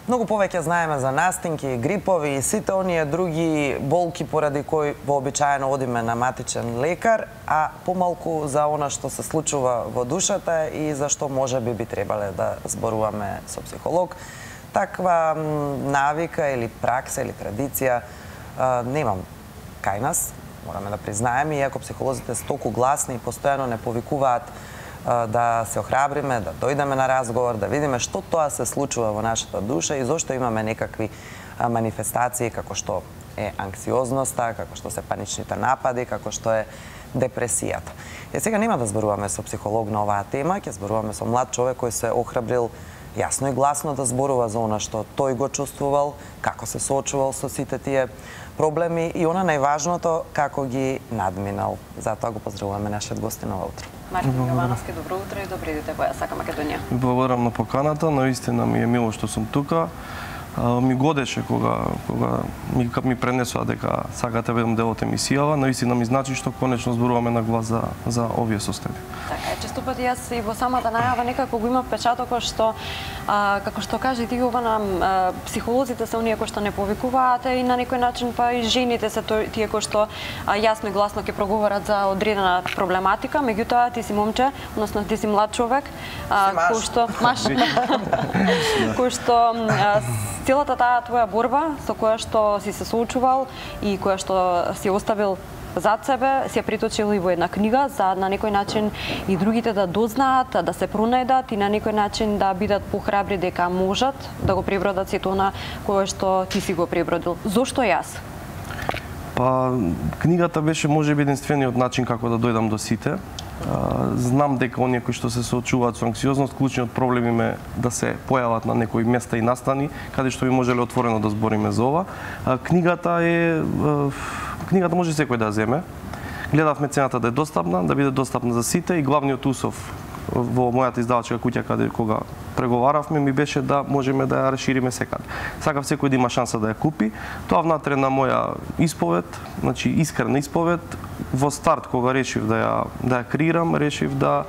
Многу повеќе знаеме за настинки, грипови и сите оние други болки поради кои вообичаено одиме на матичен лекар, а помалку за она што се случува во душата и за што можеби би требале да зборуваме со психолог. Таква навика или пракса или традиција немам кај нас, мораме да признаеме, иако психолозите се толку гласни и постојано не повикуваат да се охрабриме, да дојдеме на разговор, да видиме што тоа се случува во нашата душа и зошто имаме некакви манифестации како што е анксиозноста, како што се паничните напади, како што е депресијата. Сега нема да зборуваме со психолог на оваа тема, ќе зборуваме со млад човек кој се охрабрил јасно и гласно да зборува за она што тој го чувствувал, како се соочувал со сите тие проблеми и она најважното како ги надминал. Затоа го поздравуваме нашиот гостин ова утро. Мартин Јовановски, добро утро и добри дете во СК Македонија. Благодарам на поканата, наистина ми е мило што сум тука. Ми годеше кога ми пренесоа дека сакате да бидам дел од емисијава, наистина ми значи што конечно зборуваме на глас за овие состојби. Така е, често пати јас и во самата најава некако го има впечатокот што како што кажи ти Јована, психолозите се оние кои што не повикуваат и на некој начин па и жените се тие кои што јасно и гласно ќе проговорат за одредена проблематика, меѓутоа ти си момче, односно ти си млад човек, кој што целата таа твоја борба со која што си се соочувал и која што си оставил зад себе, си ја приточил и во една книга за на некој начин и другите да дознаат, да се пронајдат и на некој начин да бидат похрабри дека можат да го пребродат сето она кое што ти си го пребродил. Зошто јас? Па, книгата беше можеби единствениот начин како да дојдам до сите. Знам дека оние кои што се соочуваат со анксиозност, клучниот проблем им е да се појават на некои места и настани, каде што би можеле отворено да збориме за ова. Книгата може секој да земе. Гледавме цената да е достапна, да биде достапна за сите и главниот усов во мојата издавачка куќа кога преговаравме ми беше да можеме да ја расшириме секаде. Сакав секој да има шанса да ја купи. Тоа внатре на моја исповед, значи искрена исповед, во старт кога решив да ја креирам, решив да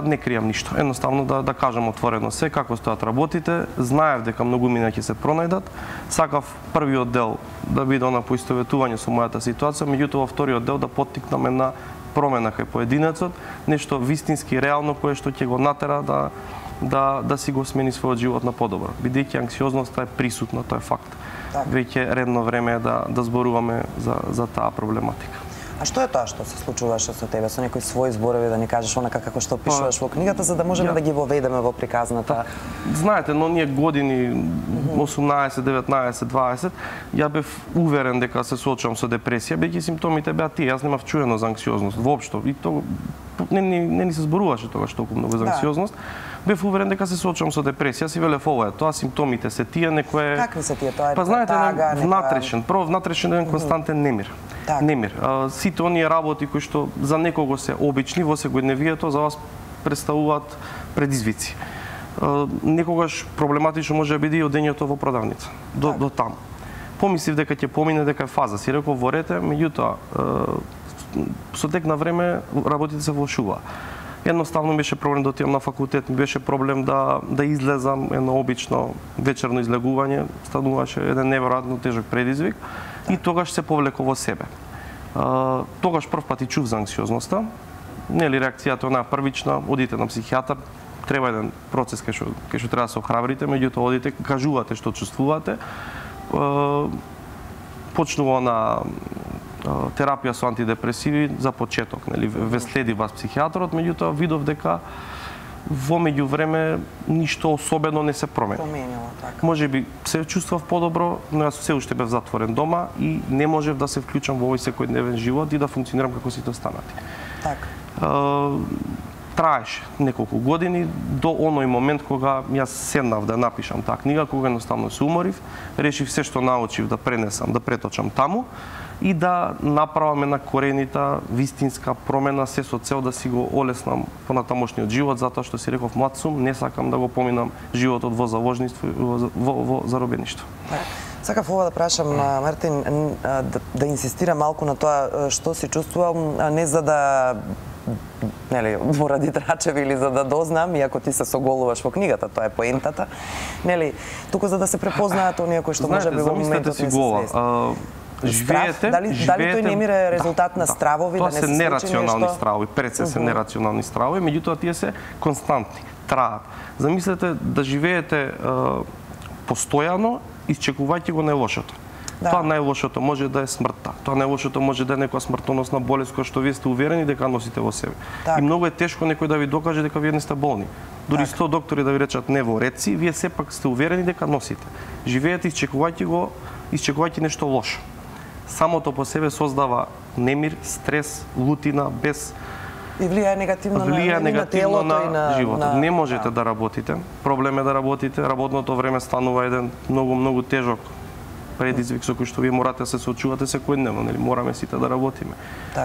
не кријам ништо. Едноставно да кажам отворено се како стојат работите. Знаев дека многумина ќе се пронајдат. Сакав првиот дел да биде на поистоветување со мојата ситуација, меѓутоа во вториот дел да поттикнаме на промена кај поединецот, нешто вистински реално кое што ќе го натера да си го смени својот живот на подобро. Бидејќи анксиозноста е присутна, тоа е факт. Веќе редно време е да зборуваме за таа проблематика. А што е тоа што се случуваше со тебе, со некои своји зборови да ни кажеш онака како што пишуваш во книгата за да можеме да ги воведеме во приказната? Знаете, но ние години 18, 19, 20, ја бев уверен дека се соочувам со депресија, бидејќи симптомите беа тие. Јас немав чуено за анксиозност воопшто и тоа не ни се зборуваше тогаш толку многу за анксиозност. Бев уверен дека се соочувам со депресија, си велев ова е тоа, симптомите се тие, некое... Какви се тие тоа? Па знаете, внатрешен еден константен немир. Немир. Сите оние работи кои што за некого се обични во секојдневието, за вас представуваат предизвици. Некогаш проблематично може да биде и одењето во продавница. До таму. Помислив дека ќе помине, дека е фаза. Си реков во рете, меѓутоа со тек на време работите се влошуваа. Едноставно беше проблем да отидам на факултет, ми беше проблем да излезам, едно обично вечерно излегување, стануваше еден неверојатно тежок предизвик и тогаш се повлеков во себе. Тогаш прв пат и чув за анксиозноста, нели реакцијата онаа првична, одите на психијатар, треба еден процес кај што треба да се охрабрите, меѓутоа одите, кажувате што чувствувате, почнува на терапија со антидепресиви за почеток, нели, ве следи вас психијатрот, меѓутоа видов дека во меѓувреме ништо особено не се променило. Можеби се чувствував подобро, но јас се уште бев затворен дома и не можев да се вклучам во овој секојдневен живот и да функционирам како сите останати. Траеше неколку години до оној момент кога јас седнав да напишам таа книга, кога едноставно се уморив, решив се што научив да пренесам, да преточам таму и да направам една коренита, вистинска промена, се со цел да си го олеснам понатамошниот живот, затоа што си реков млад сум, не сакам да го поминам животот во заложништво и во заробеништво. Сакав ова да прашам, Мартин, да инсистирам малку на тоа што си чувствувам, не за да нели, поради трачеви или за да дознам, иако ти се соголуваш во книгата, тоа е поентата, нели, туку за да се препознаат оние кои што можеби во моментот не се свесни. Живеете, дали тој немира резултат на стравови, тоа да не се се нерационални стравови, пред се нерационални стравови, меѓутоа тие се константни, траат. Замислете да живеете постојано, исчекувајќи го најлошото. Тоа најлошото може да е смртта. Тоа најлошото може да е некоја смртоносна болест која што вие сте уверени дека носите во себе. И многу е тешко некој да ви докаже дека вие не сте болни. Дури 100 доктори да ви речат не во реци, вие сепак сте уверени дека носите. Живеете исчекувајќи нешто лошо. Самото по себе создава немир, стрес, лутина, без и влијае негативно на животот. Не можете да работите. Проблем е да работите. Работното време станува еден многу тежок предизвик со кој што вие морате да се соочувате секојдневно, нели мораме сите да работиме.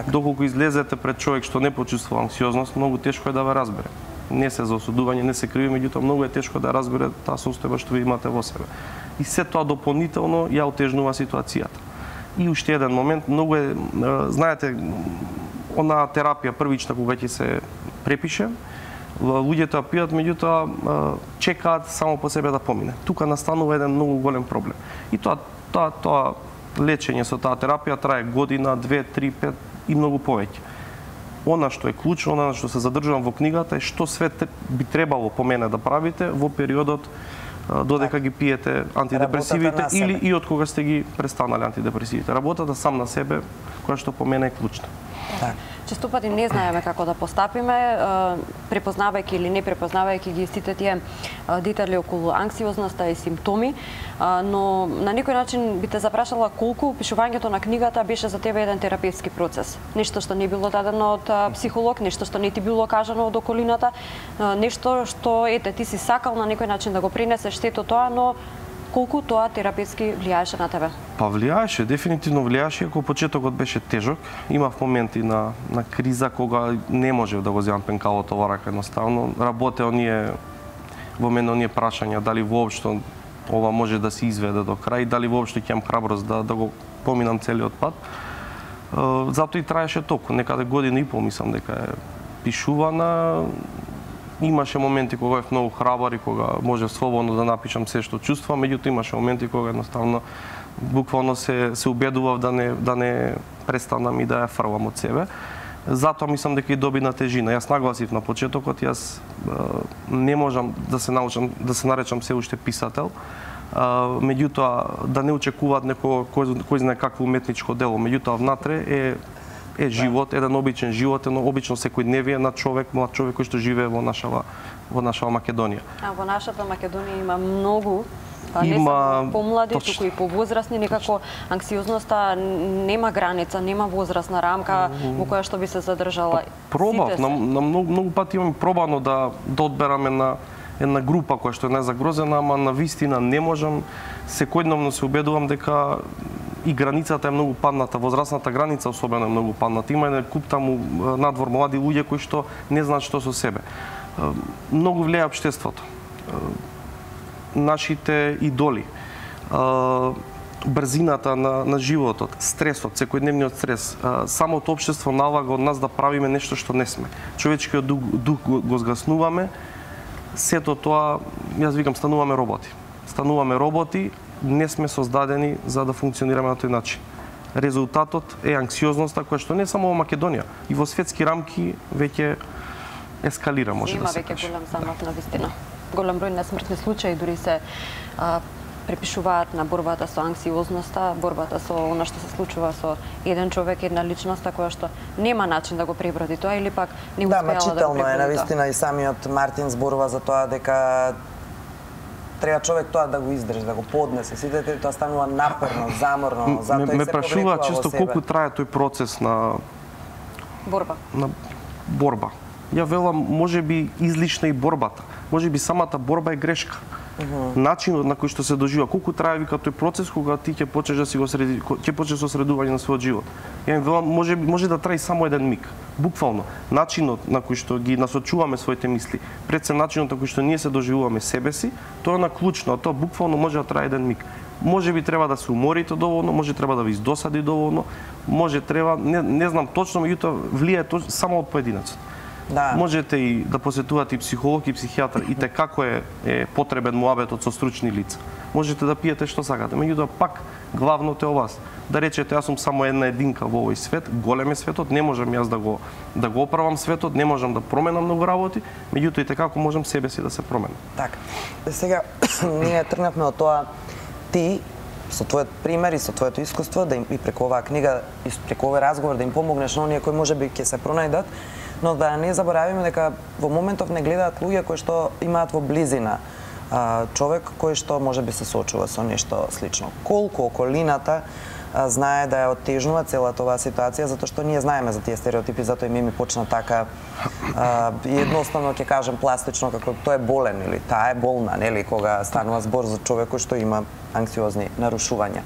Доколку излезете пред човек што не почувствува анксиозност, многу тешко е да ве разбере. Не се за осудување, не се криви, меѓутоа многу е тешко да разбере таа состојба што ви имате во себе. И се тоа дополнително ја отежнува ситуацијата. И уште еден момент, многу е, знаете, онаа терапија првична кога ќе се препише, луѓето ја пијат, меѓутоа чекаат само по себе да помине. Тука настанува еден многу голем проблем. И тоа лечење со таа терапија трае година, 2, 3, 5 и многу повеќе. Она што е клучно, она што се задржувам во книгата е што све би требало по мене да правите во периодот додека ги пиете антидепресивите или и од кога сте ги престанали антидепресивите. Работата сам на себе, која што по мене е клучна. Често пати не знаеме како да постапиме, препознавајќи или не препознавајќи ги сите тие детали околу анксиозноста и симптоми, но на некој начин би те запрашала колку пишувањето на книгата беше за тебе еден терапевски процес. Нешто што не било дадено од психолог, нешто што не ти било кажано од околината, нешто што ете ти си сакал на некој начин да го пренесеш сето тоа, но колку тоа терапевски влијаеше на тебе? Па влијаеше, дефинитивно влијаеше, ако почетокот беше тежок. Имав моменти на криза кога не можев да го земам пенкалото во рака едноставно. Работе во мене оние прашања дали воопшто ова може да се изведе до крај, дали воопшто ќе имам храброст да го поминам целиот пат. Затоа и траеше толку, некаде година и пол мислам дека е пишувана. Имаше моменти кога бев многу храбар и кога можев слободно да напишам се што чувствувам, меѓутоа имаше моменти кога едноставно буквално се убедував да не престанам и да ја фрлам од себе. Затоа мислам дека и доби на тежина. Јас нагласив на почетокот, јас не можам да се научам да се наречам се уште писател, меѓутоа да не очекуваат кој знае какво уметничко дело, меѓутоа внатре е живот, еден обичен живот, едно обично секојдневие на човек, млад човек кој што живее во нашава Македонија. А во нашата Македонија има многу, не само помлади, туку и повозрасни, некако анксиозноста нема граница, нема возрастна рамка во која што би се задржала. Пробав, на многу пати имам пробано да одберам една група која што е незагрозена, ама на вистина не можам. Секојдневно се убедувам дека и границата е многу падната, возрастната граница особено е многу падната. Има еден куп таму надвор млади луѓе кои што не знаат што со себе. Многу влијае општеството. Нашите идоли, брзината на животот, стресот, секојдневниот стрес, самото општество налага од нас да правиме нешто што не сме. Човечкиот дух го згаснуваме, сето тоа, јас викам, стануваме роботи. Стануваме роботи, не сме создадени за да функционираме на тој начин. Резултатот е анксиозноста која што не само во Македонија, и во светски рамки веќе ескалира, може да се каже. Има веќе голем замах на вистина. Голем број на смртни случаи дури се препишуваат на борбата со анксиозноста, борбата со она што се случува со еден човек, една личност која што нема начин да го преброди тоа или пак не успеала да го преброди. Да, мачително е навистина и самиот Мартин зборува за тоа дека треба човек тоа да го издржи, да го поднесе. Сите тоа станува напорно, заморно, затоа и се ме прашуваат често колку трае тој процес на борба. Ја велам, можеби излишна и борбата. Можеби самата борба е грешка. Начинот на кој што се доживува, колку трае вика тој процес кога ти ќе почнеш со средување на својот живот. Ја велам, може да трае само еден миг. Буквално, начинот на кој што ги насочуваме своите мисли, пред се начинот на кој што ние се доживуваме себе си, тоа е на клучно, тоа буквално може да трае еден миг. Може би треба да се уморите доволно, може треба да ви издосади доволно, може треба, не знам точно, меѓутоа влијае само од поединецот. Да. Можете и да посетувате и психолог и психијатар, и те како е потребен муабетот со стручни лица. Можете да пиете што сакате, меѓутоа пак главното е о вас. Да речете, јас сум само една единка во овој свет, голем е светот, не можам јас да го оправам светот, не можам да променам многу работи, меѓутоа и како можам себе си да се променам. Така. Сега ние тргнавме од тоа ти со твојот пример и со твоето искуство да им и преку оваа книга и преку овој разговор да им помогнеш на оние кои можеби ќе се пронајдат, но да не заборавиме дека во моментов не гледаат луѓе кои што имаат во близина човек кој што можеби се соочува со нешто слично. Колку околината знае да ја оттежнува целата оваа ситуација, затоа што ние знаеме за тие стереотипи, затоа и ми почна така едноставно ќе кажем пластично како тој е болен или таа е болна, нели, кога станува збор за човек кој што има анксиозни нарушувања.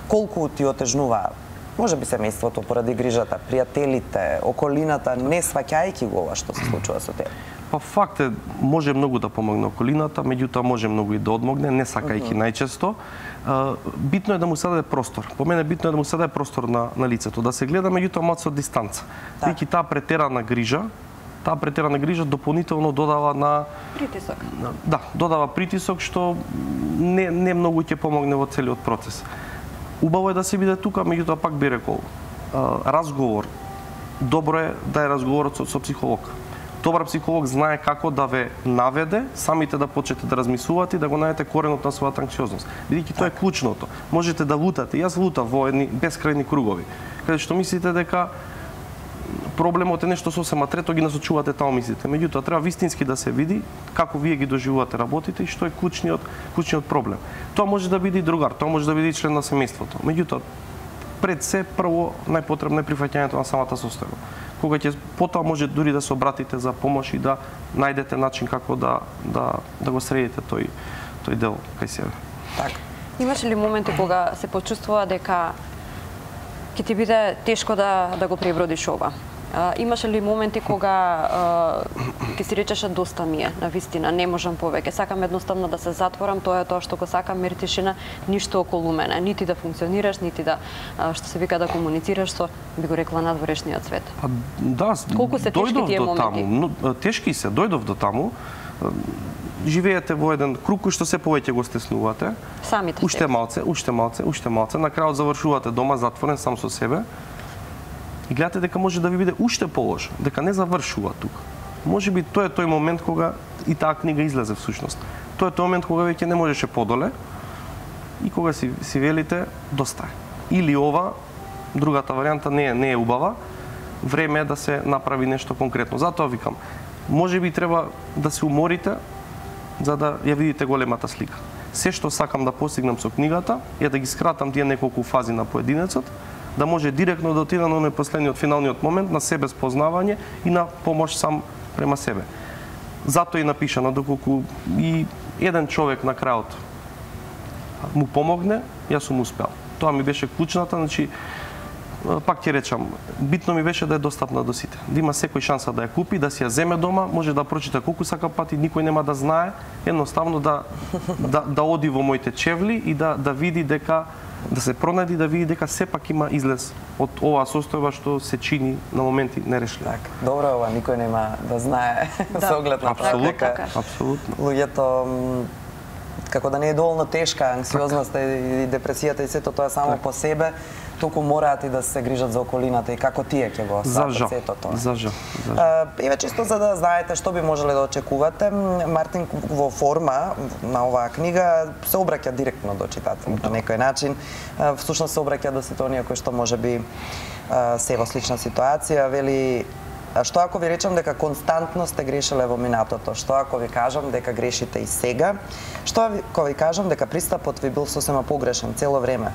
Колку ти отежнува можеби семејството поради грижата, пријателите, околината, не сваќајќи го ова што се случува со тебе? Па факт е, може многу да помогне околината, меѓутоа може многу и да одмогне, не сакајќи најчесто. Битно е да му се даде простор. По мене битно е да му се даде простор на лицето, да се гледа меѓутоа малку со дистанца. Бидејќи таа претерана грижа дополнително додава на притисок. Да, додава притисок што не многу ќе помогне во целиот процес. Убаво е да се биде тука, меѓутоа пак би рекол, разговор, добро е да е разговорот со психолог. Добар психолог знае како да ве наведе, самите да почнете да размислувате и да го најдете коренот на својата анксиозност. Бидејќи тоа е клучното. Можете да лутате. Јас лутав во едни бескрајни кругови, каде што мислите дека проблемот е нешто сосема трето, ги насочувате таму мислите. Меѓутоа треба вистински да се види како вие ги доживувате работите и што е клучниот проблем. Тоа може да биде и другар, тоа може да биде и член на семејството. Меѓутоа пред се прво најпотребно е прифаќањето на самата состојба. Кога ќе потоа може дури да се обратите за помош и да најдете начин како да го средите тој дел кај себе. Така. Имаше ли моменти кога се почувствува дека ќе ти биде тешко да го пребродиш ова? Имаше ли моменти кога ќе си речеше доста ми е, навистина, не можам повеќе, сакам едноставно да се затворам, тоа е тоа што го сакам, мир тишина, ништо околу мене, нити да функционираш, нити да што се вика да комуницираш со, би го рекла, надворешниот свет. Да, колку се тешки тие моменти? Тешки се, дојдов до таму. Живеете во еден круг кој што се повеќе го стеснувате. Самите уште малце, на крајот завршувате дома затворен сам со себе. И гледате дека може да ви биде уште полошо, дека не завршува тука. Може би тоа е тој момент кога и таа книга излезе всушност. Тоа е тој момент кога веќе не можеше подоле и кога си велите доста е. Или ова, другата варијанта не е убава, време е да се направи нешто конкретно. Затоа викам, може би треба да се уморите за да ја видите големата слика. Се што сакам да постигнам со книгата е да ги скратам тие неколку фази на поединецот, да може директно да отида на последниот финалниот момент на себе спознавање и на помош сам према себе. Затоа и напишано, доколку и еден човек на крајот му помогне, јас сум успел. Тоа ми беше клучната, значи пак ќе речам, битно ми беше да е достапна до сите. Да има секој шанса да ја купи, да си ја земе дома, може да прочита колку сака пати, никој нема да знае, едноставно да оди во моите чевли и да види дека да се пронајди, да види дека сепак има излез од оваа состојба што се чини на моменти нерешливо. Так, добро ова никој нема да знае со оглед на тоа дека апсолутно. Луѓето како да не е доволно тешка анксиозноста и депресијата и сето тоа само по себе, туку мораат и да се грижат за околината и како тие ќе го сватат сето тоа. За жал. Еве чисто за да знаете што би можеле да очекувате, Мартин во форма на оваа книга се обраќа директно до читателот на некој начин. Всушност се обраќа до сите оние кои што можеби се во слична ситуација, вели што ако ви речам дека константно сте грешеле во минатото? Што ако ви кажам дека грешите и сега? Што ако ви кажам дека пристапот ви бил сосема погрешен цело време?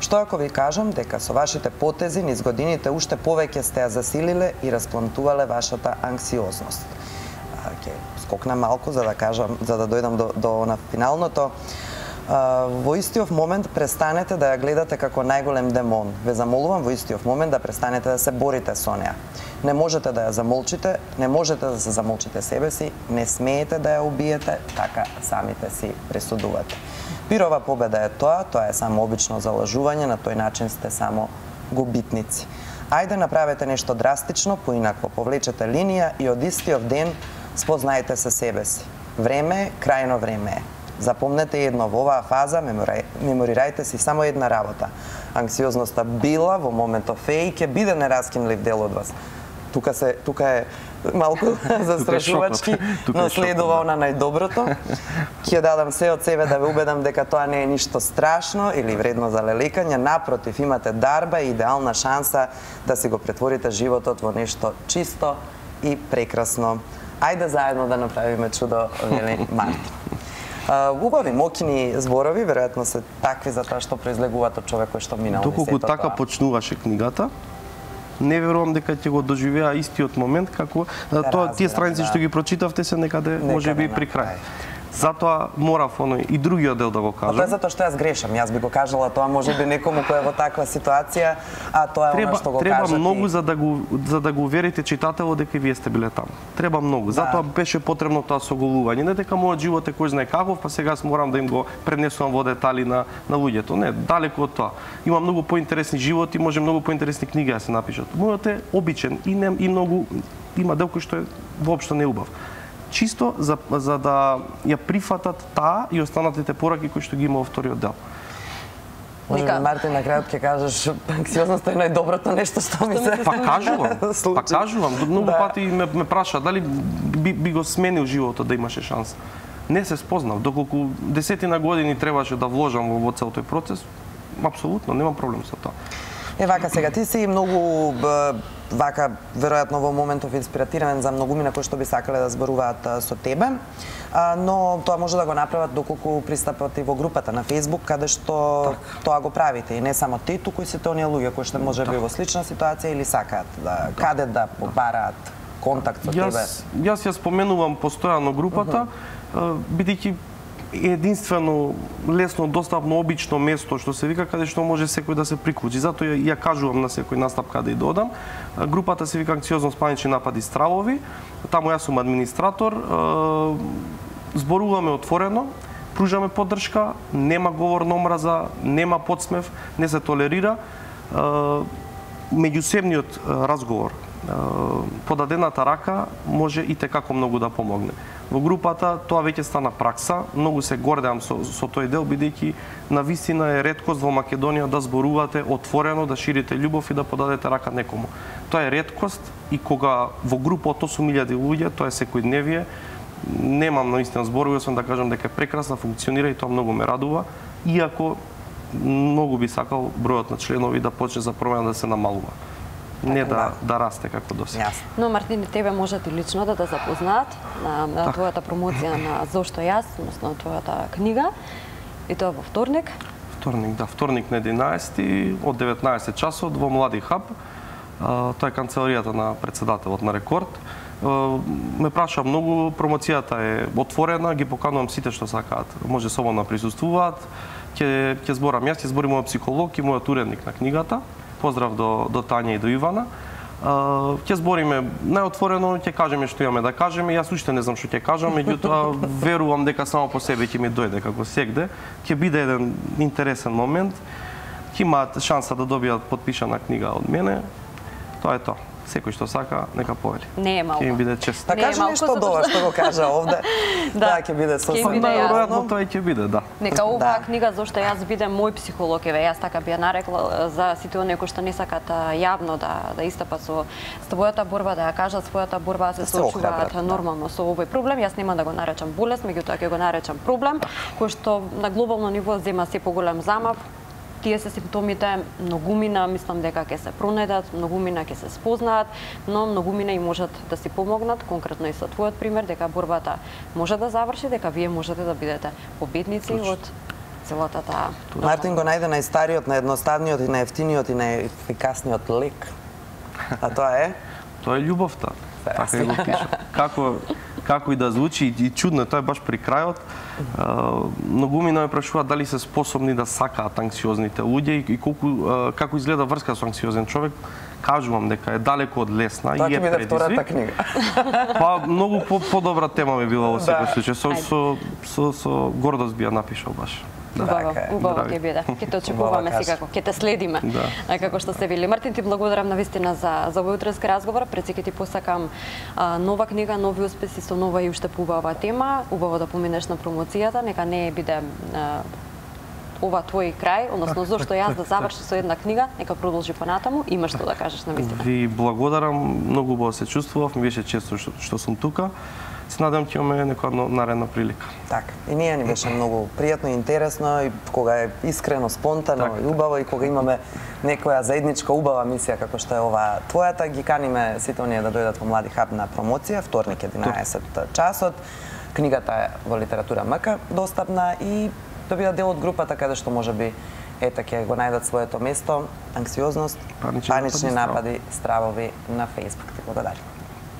Што ако ви кажам дека со вашите потези низ годините уште повеќе сте ја засилиле и расплантувале вашата анксиозност? Ќе скокнам малку за да кажам, за да дојдам до на финалното. Во истиот момент престанете да ја гледате како најголем демон. Ве замолувам во истиот момент да престанете да се борите со неа. Не можете да ја замолчите, не можете да се замолчите себе си, не смеете да ја убиете, така самите си пресудувате. Пирова победа е тоа е само обично залажување, на тој начин сте само губитници. Ајде направете нешто драстично, поинакво повлечете линија и од истиот ден спознаете се себе си. Време е, крајно време е. Запомнете едно, во оваа фаза меморирајте си само една работа. Анксиозноста била во моментов е и ќе биде нераскинлив дел од вас. Тука е малку застрашувачки, но следува она најдоброто. Ќе дадам се од себе да ве убедам дека тоа не е ништо страшно или вредно за леликање. Напротив, имате дарба и идеална шанса да си го претворите животот во нешто чисто и прекрасно. Ајде заедно да направиме чудо, вели Мартин. Убави, мокини зборови, веројатно се такви за тоа што произлегуваат од човек кој што минал. Доколку така почнуваше книгата, не верувам дека ќе го доживеа истиот момент како тие страници што ги прочитавте се некаде можеби при крај. Затоа морав и другиот дел да го кажам. Тоа е затоа што јас грешам. Јас би го кажала тоа можеби некому кој е во таква ситуација, а тоа е она што го кажа. Треба многу за да го уверите читателот дека вие сте биле таму. Треба многу. Затоа беше потребно тоа соголување. Не дека мојот живот е кој знае каков, па сега морам да им го пренесувам во детали на луѓето. Не, далеку од тоа. Има многу поинтересни животи, може многу поинтересни книги да се напишат. Мојот е обичен и многу има дел кој што е воопшто неубав. Чисто за да ја прифатат таа и останатите пораки кои што ги има во вториот дел. Може би, Мартин, на крајот ќе кажеш анксиозноста е најдоброто нешто што ми се кажувам. Многу пати ме праша дали би го сменил животот да имаше шанса. Не се спознав, доколку десетина години требаше да вложам во цел тој процес, апсолутно немам проблем со тоа. Вака сега, ти си многу вака, веројатно во моментов инспиративен за многумина кои што би сакале да зборуваат со тебе, но тоа може да го направат доколку пристапат и во групата на Facebook, каде што тоа го правите. И не само ти, туку и сите оние луѓе кои што може би во слична ситуација или сакаат каде да побараат контакт со тебе. Јас ја споменувам постојано групата, бидејќи единствено лесно достапно обично место што се вика каде што може секој да се приклучи. Затоа ја кажувам на секој настап каде и додам. Групата се вика Анксиозност, панични напади, стравови. Таму јас сум администратор. Зборуваме отворено, пружаме поддршка, нема говор на омраза, нема подсмев, не се толерира. Меѓусебниот разговор, подадената рака може и текако многу да помогне. Во групата тоа веќе стана пракса, многу се гордеам со тој дел, бидејќи навистина е реткост во Македонија да зборувате отворено, да ширите љубов и да подадете рака некому. Тоа е реткост и кога во група од 8.000 луѓе, тоа е секојдневие, немам наистина зборови, освен да кажам дека е прекрасно, функционира и тоа многу ме радува, иако многу би сакал бројот на членови да почне за промена да се намалува. Не да расте како досега. Но Мартин, тебе можат и лично да запознаат на твојата промоција на Зошто јас, односно твојата книга, и тоа во вторник. Вторник на 11 од 19 часот во Млади хаб. Тоа е канцеларијата на председателот на Рекорд. Ме праша многу, промоцијата е отворена, ги поканувам сите што сакаат, може слободно да присуствуваат. Ќе зборам јас, ќе збори мојот психолог и мојот уредник на книгата. Поздрав до Тања и до Ивана. Ќе збориме најотворено, ќе кажеме што имаме да кажеме. Јас уште не знам што ќе кажам, меѓутоа верувам дека само по себе ќе ми дојде како сегде. Ќе биде еден интересен момент. Ќе имаат шанса да добијат подпишана книга од мене. Тоа е тоа. Секој што сака, нека повели. Не е малку. Ќе им биде чест. Да кажи нешто од ова што го кажа овде. Да, ќе биде сосема. Најверојатно тоа ќе биде, да. Нека оваа книга Зошто јас бидем мој психолог, јас така би ја нарекла за сите оние кои што не сакаат јавно да истапат со својата борба, да ја кажат својата борба, се соочуваат нормално со овој проблем. Јас нема да го наречам болест, меѓутоа ќе го наречам проблем кој што на глобално ниво зема се поголем замав. Тие се симптомите, многумина мислам дека ќе се пронајдат, многумина ќе се спознаат, но многумина и можат да си помогнат, конкретно и со твојот пример, дека борбата може да заврши, дека вие можете да бидете победници од целата таа. Мартин го најде најстариот, наједноставниот и најевтиниот и најефикасниот лек. А тоа е? Тоа е љубовта. Така го пише. како и да звучи и чудно, тоа е баш при крајот. Многу ме прашуваат дали се способни да сакаат анксиозните луѓе и како изгледа врска со анксиозен човек. Кажувам дека е далеко од лесна Тоа и е ќе биде втората предизвик. книга. Па многу подобра тема би била во секој случај. Со гордост би ја напишал баш. Убаво ќе биде. Ќе те очекуваме секако, ќе те следиме. Како што се вели. Мартин, ти благодарам навистина за овој утрески разговор. Пред сека ти посакам нова книга, нови успеси со нова и уште поубава тема. Убаво да поминеш на промоцијата, нека не биде ова твој крај, односно зошто јас да заврши со една книга, нека продолжи понатаму. Имаш што да кажеш навистина. Ви благодарам, многу убаво се чувствував, ми беше често што сум тука. Се надам ќе имаме некоја наредна прилика. Така. И ние ни беше многу пријатно и интересно и кога е искрено, спонтано и убаво и кога имаме некоја заедничка убава мисија како што е ова твојата, ги каниме сите оние да дојдат во Млади хаб на промоција вторник 11 часот. Книгата е во Литература МК достапна и да бидат дел од групата каде што можеби ќе го најдат своето место, анксиозност, панични напади, стравови на Facebook. Ти благодарам.